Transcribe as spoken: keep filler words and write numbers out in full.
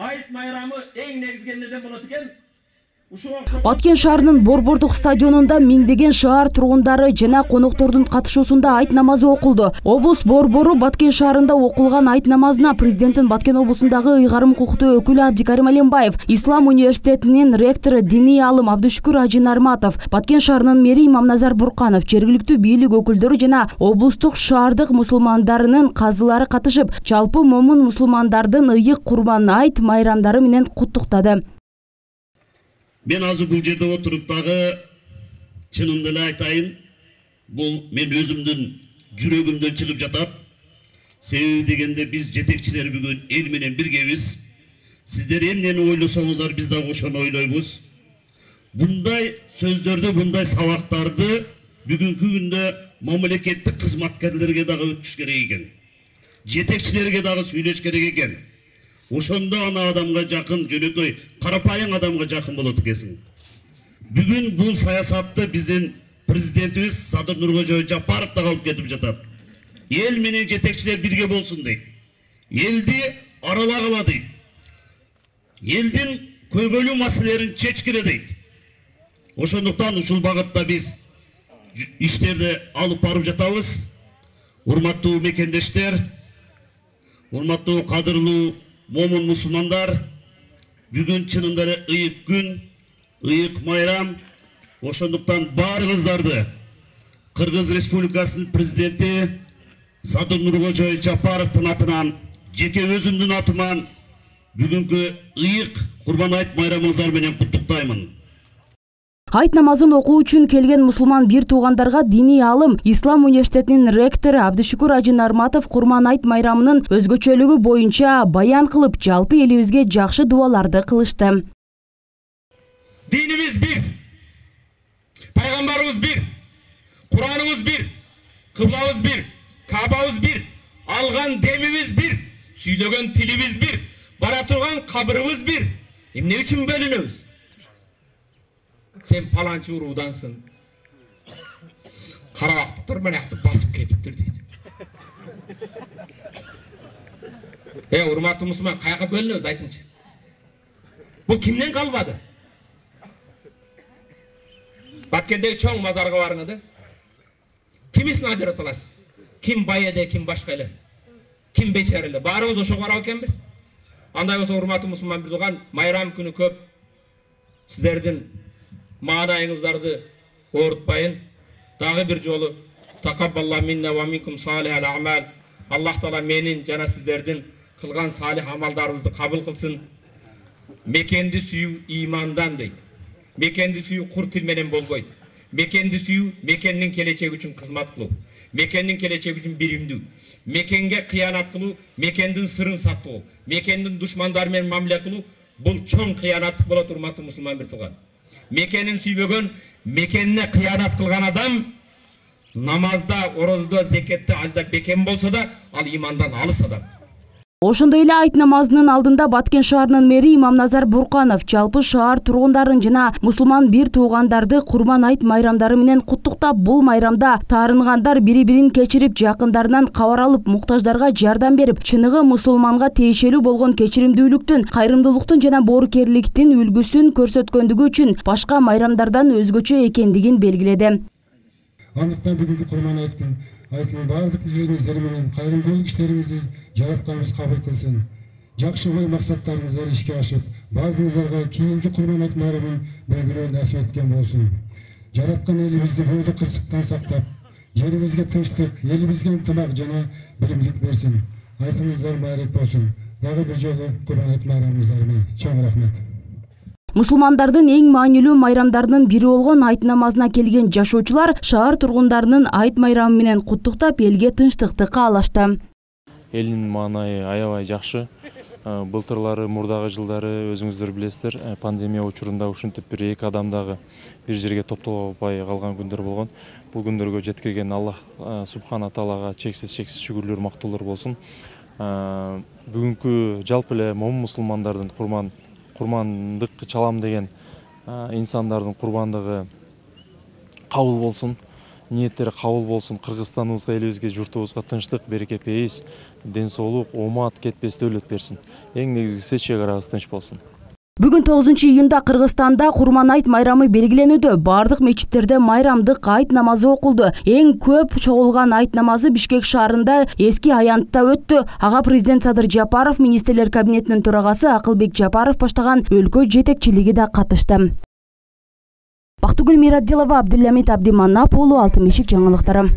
айт майрамы эң негизги эмнеден болот экен? Баткен шаарынын Борбордук стадионунда миңдеген шаар тургундары жана коноктордун катышуусунда айт намазы окулду. Облус борбору Баткен шаарында окулган айт намазына президенттин Баткен облусундагы ыйгарым укуктуу өкүлү Абдикарим Алимбаев, Ислам университетинин ректору диний алым Абдышүкүр Ажы Нарматов, Баткен шаарынын мэри Имамназар Бурканов, жергиликтүү бийлик өкүлдөрү жана облустук шаардык мусулмандарынын казылары катышып, жалпы момун мусулмандардын ыйык Курбан айт майрамдары менен куттуктады. Мен азыр бул жерде отуруп дагы чынымды эле айтайын, бул мен өзүмдүн жүрөгүмдөн чыгып жатат. Себеби дегенде биз жетекчилер бүгүн эл менен биргебиз. Сиздер эмнени ойлосоңуздар биз дагы ошону ойлойбуз. Bunday сөздөрдү, bunday сабактарды бүгүнкү күндө мамлекеттик кызматкерлерге дагы өтүш керек экен. Жетекчилерге дагы сүйлөш керек экен. Ошондо ана адамга жакын, жөнөкөй карапайым адамга жакын болот экенсиң. Бүгүн бул саясатты биздин президентибиз Садыр Нуркожоев Жапаров да алып кетип жатат. Эл менен жетекчилер бирге болсун дейт. Элди аралагыла дейт. Элдин көйгөйлүү маселелерин чечкиле дейт. Ошондуктан ушул багытта биз иштерди алып барып жатабыз. Урматтуу мекендештер, урматтуу кадырлуу момун мусулмандар, бүгүн чынында эле ыйык күн, ыйык майрам. Ошондуктан баарыңыздарды Кыргыз Республикасынын президенти Садыр Нуркожоев Жапаровдун атынан, жеке өзүмдүн атыман бүгүнкү ыйык Курбан айт майрамыңыздар менен куттуктаймын. Айт намазын окуу үчүн келген мусулман бир туугандарга диний алым Ислам университетинин ректору Абдышүкүр Ажы Нарматов Курбан айт майрамынын өзгөчөлүгү боюнча баян кылып, жалпы элибизге жакшы дуаларды кылышты. Динибиз бир, пайгамбарыбыз бир, Кураныбыз бир, кыблабыз бир, Кабабыз бир, алган демибиз бир, сүйлөгөн тилибиз бир, бара турган кабырыбыз бир. Эмне үчүн бөлүнөбүз? Sen palançı uruğdansın. Karabaktıktır, ben yaktı basıp ketiptir deydi. E urmatlı Müslüman, kayaka bölünüyoruz aytımcı. Bu kimden kalmadı? Batkendeki çoğun mazarga varınıdı. Kimisini acıratılasız? Kim bayede, kim başkayla? Kim beçerili? Bağrımız o şok vararken biz? Anday olsa urmatlı Müslüman bir doğan, mayram günü köp. Sizlerden маанайыңыздарды оорутпайын. Дагы бир жолу такаббалла минна ва минкум салихал амал. Аллах таала менин жана сиздердин кылган салих амалдарыңызды кабыл кылсын. Мекенди сүйүү имандан дейт. Мекенди сүйүү кур тил менен болбойт. Мекенди сүйүү мекендин келечеги үчүн кызмат кылуу. Мекендин келечеги үчүн биримдүү. Мекенге кыянат кылуу, мекендин сырын сактоо, мекендин душмандары менен мамиле кылуу бул чоң кыянаттык болот, урматтуу мусулман бир тууган. Мекенин сүйбөгөн, мекенине кыянат кылган адам намазда, орозда, зекетте, ажда бекем болсо да, ал имандан алыс адам. Ошондой эле айт намазынын алдында Баткен шаарынын мэри Имамназар Бурканов жалпы шаар тургундарын жана мусулман бир туугандарды Курбан айт майрамдары менен куттуктап, бул майрамда таарынгандар бири-бирин кечирип, жакындарынан кабар алып, муктаждарга жардам берип, чыныгы мусулманга тиешелүү болгон кечиримдүүлүктүн, кайрымдуулуктун жана боорукерликтин үлгүсүн көрсөткөндүгү үчүн башка майрамдардан өзгөчө экендигин белгиледи. Андыктан бүгүнкү Курбан айт күн айтын бардык илгериңиздер менен кайрымдуулук иштериңизди жаратканыбыз кабыл кылсын. Жакшы ой максаттарыңыздар ишке ашып, бардыгыңыздарга кийинки Курбан айт майрамын белгилөө насип эткен болсун. Жараткан элибизди бойдо кырсыктан сактап, жерибизге тынчтык, элибизге ынтымак жана биримдик берсин. Айтыңыздар майрек болсун. Дагы бир жолу Курбан айт майрамыңыздар менен чоң рахмет. Мусулмандардын эң маанилүү майрамдарынын бири болгон айт намазына келген жашоочулар шаар тургундарынын айт майрамы менен куттуктап, элге тынчтыкты каалашты. Элдин маанайы аябай жакшы. Былтырлары, мурдагы жылдары өзүңүздөр билесиздер, пандемия учурунда ушинтип бир эки адам дагы бир жерге топтоло албай калган күндөр болгон. Бул күндөргө жеткирген Аллах субхана таалага чексиз чексиз шүгүрлөр, мактоолор болсун. Бүгүнкү жалпы эле момун мусулмандардын курман курмандык чалам деген инсандардын курбандыгы кабыл болсун. ниеттери кабыл болсун. Кыргызстаныбызга, элибизге, журтубузга тынчтык, береке, пейиз, ден соолук, оомат, кетпес дөөлөт берсин. Эң негизгиси чек арабыз тынч болсун. Бүгүн тогузунчу июнда Кыргызстанда Курман айт майрамы белгиленүүдө. Бардык мечиттерде майрамдык айт намазы окулду. Эң көп чогулган айт намазы Бишкек шаарында Эски Аянтта өттү. Ага президент Садыр Жапаров, министрлер кабинетинин төрагасы Акылбек Жапаров баштаган өлкө жетекчилиги да катышты. Бактыгүл Мирадилова, Абдуллямит Абдиманап уулу, Алтын бешик жаңылыктары.